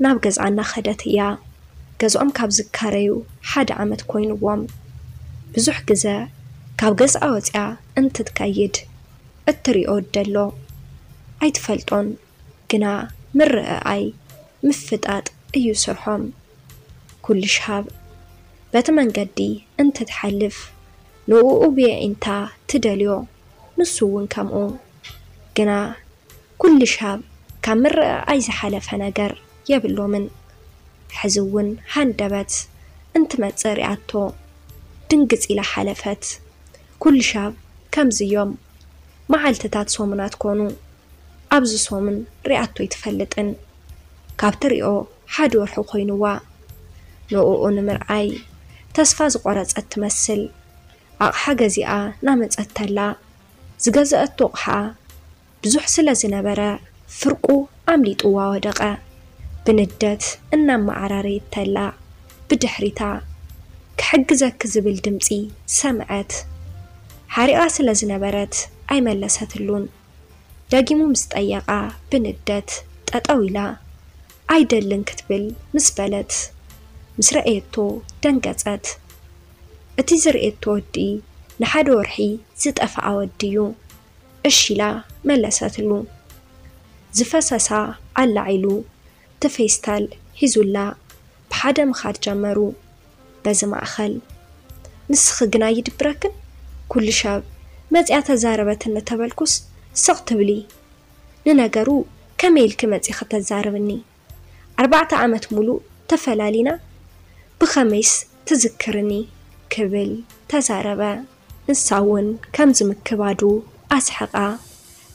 ናብ ገዝኣ እናኸደት እያ። ገዝኦም ካብ ዝካረዩ ሓደ ዓመት ኮይንዎም። ብዙሕ ግዘ ካብ ገዝኣ ወፂኣ እንትትከይድ እትሪኦ ደሎ ኣይትፈልጦን፣ ግና ምርዕኣይ ምፍጣጥ እዩ ስርሖም። ኩሉ ሽሃብ በቲ መንገዲ እንትትሓልፍ ንእኡ ብየዒንታ ትደልዮ፣ ንሱ እውን ከምኡ። ግና ኩሉ ሽሃብ ካብ ምርዕኣይ ዝሓለፈ ነገር የብሎምን። ሕዚ እውን ሃንደበት እንትመጽእ ሪኣቶ ድንግጽ ኢላ ሓለፈት። ኩሉ ሽሃብ ከምዚ እዮም። መዓልትታት ሰሙናት ኮኑ። ኣብዚ ሰሙን ሪኣቶ ኣይትፈልጥን። ካብ ትሪኦ ሓደ ወርሒ ኮይንዋ። ንእኡ ንምርኣይ ተስፋ ዝቆረጸት ትመስል። ኣቕሓ ገዚኣ ናመጸት ተላ ዝገዘአቶ ኣቕሓ ብዙሕ ስለ ዝነበረ ፍርቁ ኣምሊጥዋ ወደቐ። ብንደት እናመዓራረየት ተላ ብድሕሪታ ክሕግዘኪ ዝብል ድምጺ ሰምዐት። ሓሪቓ ስለ ዝነበረት ኣይመለሰትሉን። ደጊሙ ምስ ጠየቓ ብንደት ጠጠው ኢላ ኣይደልን ክትብል ምስ በለት ምስ ረኣየቶ ደንገጸት። እቲ ዝርእየቶ ወዲ ንሓደ ወርሒ ዝጠፍኣ ወዲ እዩ። እሺ ኢላ መለሰትሉ። ዝፈሰሳ ኣላዒሉ እቲ ፌስታል ሒዙላ ብሓደ ምኻድ ጀመሩ። በዚ ማእኸል ንስኺ ግና ይድብረክን? ኩሉ ሻብ መፂኣ ተዛረበትኒ ተበልኩስ ስቕ ትብሊ። ንነገሩ ከመይ ኢልኪ መፂኺ ተዛርብኒ? ኣርባዕተ ዓመት ሙሉእ ተፈላሊና ብኸመይስ ትዝክርኒ? ክብል ተዛረበ። ንሳ እውን ከምዚ ምክባዱ ኣስሐቓ።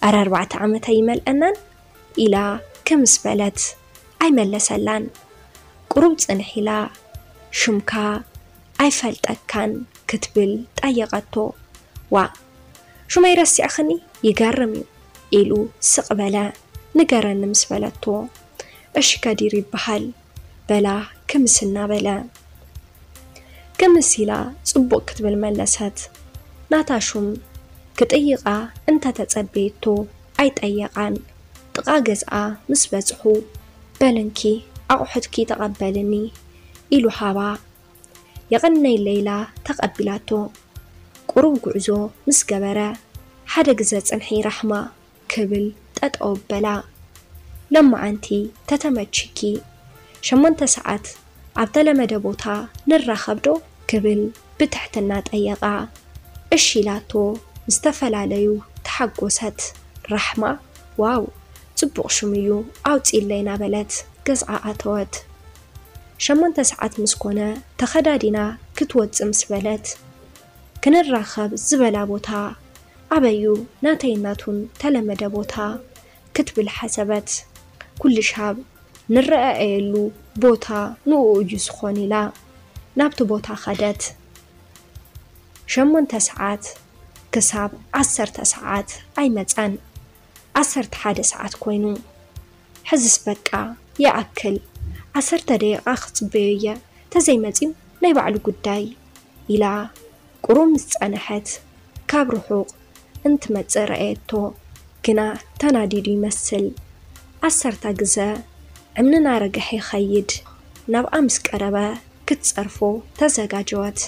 ኣረ ኣርባዕተ ዓመት ኣይመልአናን ኢላ ክምስ በለት ኣይመለሰላን። ቁሩብ ጽንሕ ኢላ ሽምካ ኣይፈልጠካን ክትብል ጠየቐቶ። ዋእ ሽመይ ረሲዕኽኒ? ይገርም እዩ ኢሉ ስቕ በለ። ንገረኒ ምስ በለቶ እሺ ከዲር ይበሃል በላ ክምስ እናበለ። ክምስ ኢላ ጽቡቕ ክትብል መለሰት። ናታ ሹም ክጥይቓ እንተተጸበየቶ ኣይጠየቓን። ጥቓ ገዝኣ ምስ በጽሑ በልንኪ ኣቑሑትኪ ተቐበልኒ ኢሉ ሃባ። የቐነይለይ ኢላ ተቐቢላቶ። ቁሩብ ጉዕዞ ምስ ገበረ ሓደ ግዘ ጽንሒ ራሕማ ክብል ጠጠው በላ። ሎማዓንቲ ተተመችኪ ሸሞንተ ሰዓት ኣብ ተለመደ ቦታ ንራኸብ ዶ ክብል ብትሕትና ጠየቓ። እሺ ኢላቶ ምስ ተፈላለዩ ተሓጎሰት። ራሕማ ዋው ጽቡቕ ሽም እዩ ኣውፅኢለይ እናበለት ገዝዓ ኣተወት። ሸሞንተ ሰዓት ምስ ኮነ ተኸዳዲና ክትወፅእ ምስ በለት ክንራኸብ ዝበላ ቦታ ኣበዩ ናተይ ናቱን ተለመደ ቦታ ክትብል ሓሰበት። ኩሉ ሻብ ንረኣየሉ ቦታ ንኡ እዩ ዝኾን ኢላ ናብቲ ቦታ ኸደት። ሸሞንተ ሰዓት ክሳብ ዓሰርተ ሰዓት ኣይመጸን። ዓሰርተ ሓደ ሰዓት ኮይኑ ሕዝስ በቃ ይኣክል ዓሰርተ ደቂቓ ክጽበዮ እየ ተዘይመጺኡ ናይ ባዕሉ ጉዳይ ኢላ ቁሩብ ምስ ጸንሐት ካብ ርሑቕ እንትመጽእ ረኣየቶ። ግና ተናዲዱ ይመስል። ዓሰርተ ግዘ እምኒ ናረግሐ ይኸይድ። ናብኣ ምስ ቀረበ ክትጸርፎ ተዘጋጀወት።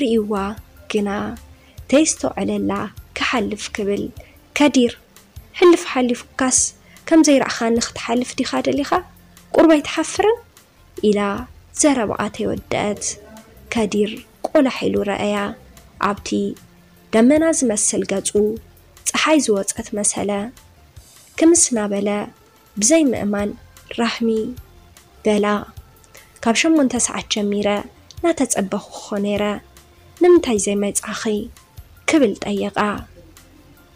ርእይዋ ግና ተይስተውዐለላ ክሓልፍ ክብል ከዲር ሕልፍ ሓሊፉካስ ከም ዘይረኣኻኒ ክትሓልፍ ዲኻ ደሊኻ? ቁሩብ ኣይትሓፍርን? ኢላ ዘረባኣ ተይወደአት ከዲር ቆላሕ ኢሉ ረኣያ። ኣብቲ ደመና ዝመስል ገጹ ጸሓይ ዝወጸት መሰለ። ክምስ እናበለ ብዘይ ምእማን ራሕሚ በላ። ካብ ሸሞንተ ሰዓት ጀሚረ እናተጸበኹ እኾ ነይረ። ንምንታይ ዘይመጻኺ? ክብል ጠየቓ።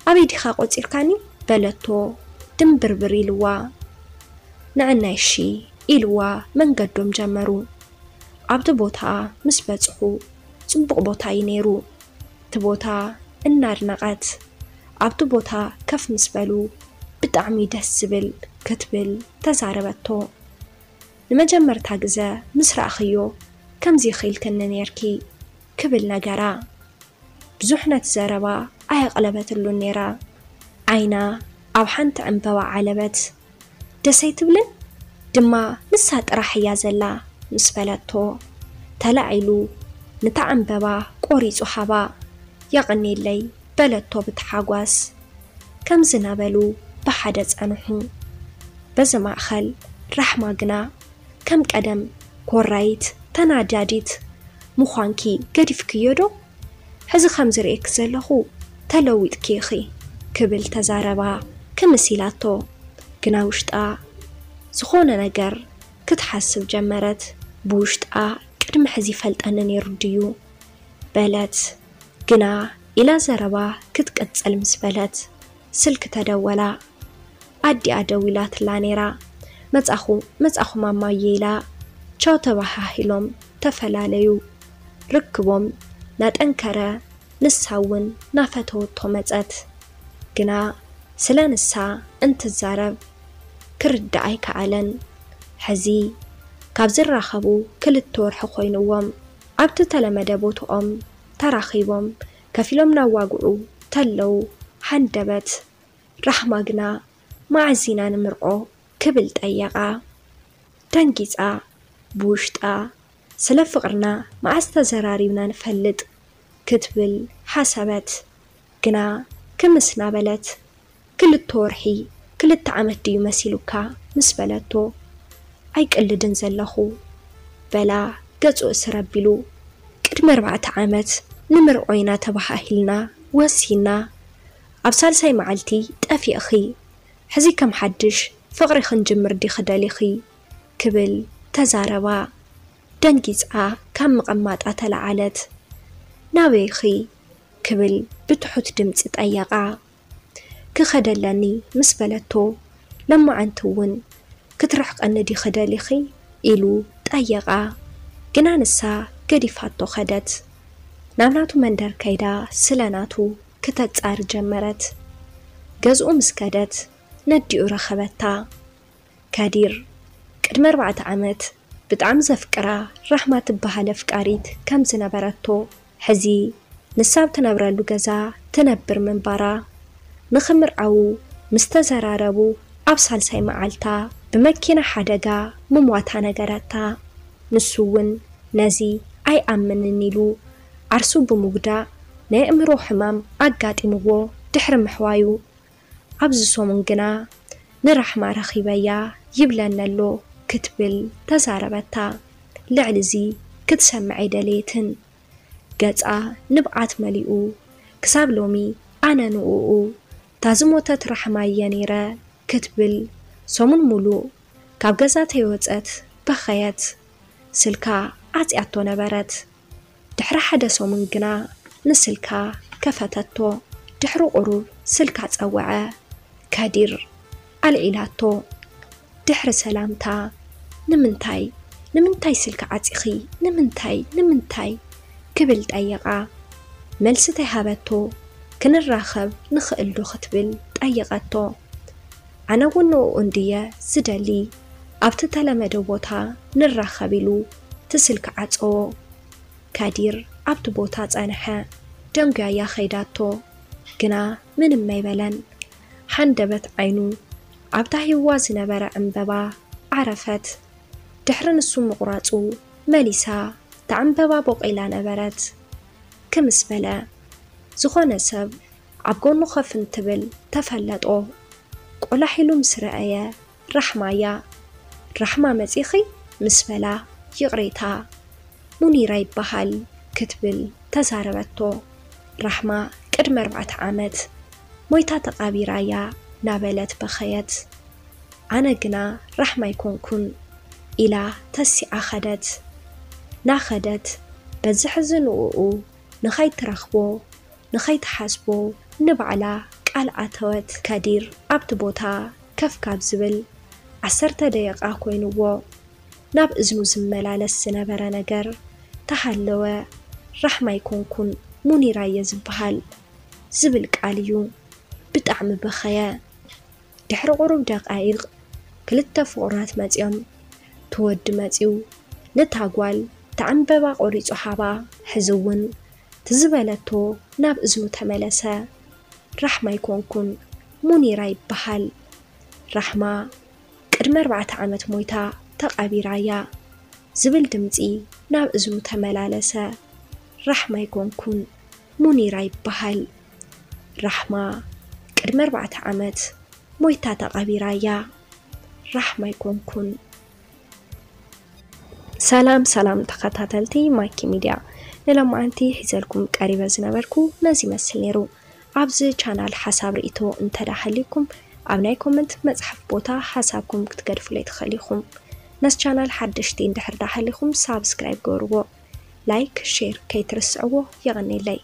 ኣበይ ዲኻ ቆጺርካኒ? በለቶ ድምብርብር ኢልዋ። ንዕናይ እሺ ኢልዋ መንገዶም ጀመሩ። ኣብቲ ቦታ ምስ በጽሑ ጽቡቕ ቦታ እዩ ነይሩ። እቲ ቦታ እናድነቐት ኣብቲ ቦታ ከፍ ምስ በሉ ብጣዕሚ ደስ ዝብል ክትብል ተዛረበቶ። ንመጀመርታ ግዘ ምስ ረኣኽዮ ከምዚ ኢኺ ኢልክኒ ነይርኪ ክብል ነገራ። ብዙሕ ነቲ ዘረባ ኣየቕለበትሉን ነይራ። ዓይና ኣብ ሓንቲ ዕምበባ ዓለበት። ደስ ኣይትብልን? ድማ ንሳ ጥራሕ እያ ዘላ ምስ በለቶ፣ ተላዒሉ ንታ ዕምበባ ቆሪጹ ሃባ። የቐኔለይ በለቶ ብተሓጓስ። ከምዚ እናበሉ ብሓደ ጸንሑ። በዚ ማእኸል ራሕማ ግና ከም ቀደም ኮራይት ተናዳዲት ምዃንኪ ገዲፍክዮ ዶ? ሕዚ ከም ዝርእየኪ ዘለኹ ተለዊጥኪ ኢኺ ክብል ተዛረባ ክምስ ኢላቶ። ግና ውሽጣ ዝኾነ ነገር ክትሓስብ ጀመረት። ብውሽጣ ቅድሚ ሕዚ ይፈልጠኒ ነይሩ ድዩ በለት። ግና ኢላ ዘረባ ክትቅጽል ምስ በለት ስልኪ ተደወላ። ኣዲኣ ደዊላትላ ነይራ። መጻኹ መጻኹ ማማየ ኢላ ቻው ተባሃሂሎም ተፈላለዩ። ርክቦም ናጠንከረ ንሳ እውን ናፈተወቶ መጸት። ግና ስለ ንሳ እንትዛረብ ክርዳእ ኣይከኣለን። ሕዚ ካብ ዝራኸቡ ክልተ ወርሒ ኮይንዎም። ኣብቲ ተለመደ ቦትኦም ተራኺቦም ከፊሎም ናዋግዑ ተለው ሃንደበት ራሕማ ግና መዓዝ ኢና ንምርዖ ክብል ጠየቓ። ደንጊጻ ብውሽጣ ስለ ፍቕርና መዓስ ተዘራሪብና ንፈልጥ ክትብል ሓሰበት። ግና ክምስ ናበለት ክልተ ወርሒ ክልተ ዓመት ድዩ መሲሉካ ምስ በለቶ ኣይቅልድን ዘለኹ በላ ገጹ እስር ኣቢሉ። ቅድሚ ኣርባዕተ ዓመት ንምርዖ ኢና ተባሃሂልና ወሲና። ኣብ ሳልሳይ መዓልቲ ጠፊእኺ። ሕዚ ከም ሓድሽ ፍቕሪ ክንጅምር ዲኺ ደሊኺ ክብል ተዛረባ። ደንጊጻ ካብ ምቕማጣ ተለዓለት። ናበይኺ ክብል ብትሑት ድምጺ ጠየቓ። ክኸደለኒ ምስ በለቶ ለማዓንቲ እውን ክትርሕቐኒ ዲኺ ደሊኺ ኢሉ ጠየቓ። ግና ንሳ ገዲፋቶ ኸደት። ናብ ናቱ መንደር ከይዳ ስለ ናቱ ክተጻሪ ጀመረት። ገዝኡ ምስ ከደት ነዲኡ ረኸበታ። ከዲር ቅድሚ ኣርባዕተ ዓመት ብጣዕሚ ዘፍቅራ ራሕማ ትበሃል ኣፍቃሪት ከም ዝነበረቶ ሕዚ ንሳ ኣብ ትነብረሉ ገዛ ትነብር ምንባራ ንኽምርዓዉ ምስ ተዘራረቡ ኣብ ሳልሳይ መዓልታ ብመኪና ሓደጋ ምሟታ ነገረታ። ንሱ እውን ነዚ ኣይኣምንን ኢሉ ዓርሱ ብምጉዳእ ናይ ኣእምሮ ሕማም ኣጋጢምዎ ድሕሪ ምሕዋዩ ኣብዚ ሰሙን ግና ንራሕማ ረኺበያ ይብለኒ ኣሎ ክትብል ተዛረበታ። ልዕሊ እዚ ክትሰምዕ ኣይደለየትን። ገጻ ንብዓት መሊኡ ክሳብ ሎሚ ኣነ ንእኡ እታ ዝሞተት ራሕማ እየ ነይረ ክትብል ሰሙን ሙሉእ ካብ ገዛ ተይወጸት በኸየት። ስልካ ዓጽያቶ ነበረት። ድሕሪ ሓደ ሰሙን ግና ንስልካ ከፈተቶ። ድሕሪ ቁሩብ ስልካ ጸወዐ። ከዲር ኣልዒላቶ። ድሕሪ ሰላምታ ንምንታይ ንምንታይ ስልኪ ዓጺኺ ንምንታይ ንምንታይ ክብል ጠየቓ። መልሲ ተይሃበቶ። ክንራኸብ ንኽእል ዶ ክትብል ጠየቐቶ። ኣነ እውን ንእኡ እንድየ ዝደሊ። ኣብቲ ተለመደ ቦታ ንራኸብ ኢሉ እቲ ስልኪ ዓጸዎ። ከዲር ኣብቲ ቦታ ጸንሐ። ደንጉያያ ከይዳቶ ግና ምንም ኣይበለን። ሓንደበት ዓይኑ ኣብታ ሂዋ ዝነበረ ዕምበባ ዓረፈት። ድሕሪ ንሱ ምቑራጹ መሊሳ እታ ዕምበባ ቦቒላ ነበረት። ክምስ በለ ዝኾነ ሰብ ኣብ ጎኑ ኮፍ እንትብል ተፈለጦ። ቆላሕ ኢሉ ምስ ረኣየ ራሕማ እያ። ራሕማ መጺኺ ምስ በላ ይቕሬታ ሙኒራ ይበሃል ክትብል ተዛረበቶ። ራሕማ ቅድሚ ኣርባዕተ ዓመት ሞይታ ተቓቢራ እያ ናበለት በኸየት። ኣነ ግና ራሕማ ኣይኮንኩን ኢላ ተሲዓ ኸደት። ናኸደት በዚ ሕዚ ንእኡ ንኸይትረኽቦ ንኸይትሓስቦ ንባዕላ ቃል ኣተወት። ከዲር ኣብቲ ቦታ ከፍ ካብ ዝብል ዓሰርተ ደቂቓ ኮይንዎ። ናብ እዝኑ ዝመላለስ ዝነበረ ነገር ተሃለወ። ራሕማ ኣይኮንኩን ሙኒራ እየ ዝበሃል ዝብል ቃል እዩ። ብጣዕሚ በኸየ። ድሕሪ ቁሩብ ደቃይቕ ክልተ ፍቑራት መጺኦም። እቲ ወዲ መጺኡ ነታ ጓል እቲ ዕምበባ ቆሪጹ ሃባ። ሕዚ እውን ትዝበለቶ ናብ እዝኑ ተመለሰ። ራሕማ ኣይኮንኩን ሙኒራ ይበሃል። ራሕማ ቅድሚ ኣርባዕተ ዓመት ሞይታ ተቐቢራ እያ ዝብል ድምፂ ናብ እዝኑ ተመላለሰ። ራሕማ ኣይኮንኩን፣ ሙኒራ ይበሃል። ራሕማ ቅድሚ ኣርባዕተ ዓመት ሞይታ ተቐቢራ እያ። ራሕማ ኣይኮንኩን። ሰላም ሰላም ተኸታተልቲ ማይኪ ሚድያ፣ ንሎማዓንቲ ሒዘልኩም ቀሪበ ዝነበርኩ ነዚ ይመስል ነይሩ። ኣብዚ ቻናል ሓሳብ ርእይቶ እንተዳ ሃልዩኩም ኣብ ናይ ኮመንት መጽሓፍ ቦታ ሓሳብኩም ክትገድፉለይ ትኽእሉ ኢኹም። ነዚ ቻናል ሓደሽቲ እንድሕር ዳ ሃልዩኩም ሳብስክራይብ ገርዎ፣ ላይክ ሼር ከይትርስዕዎ። የቐኔለይ።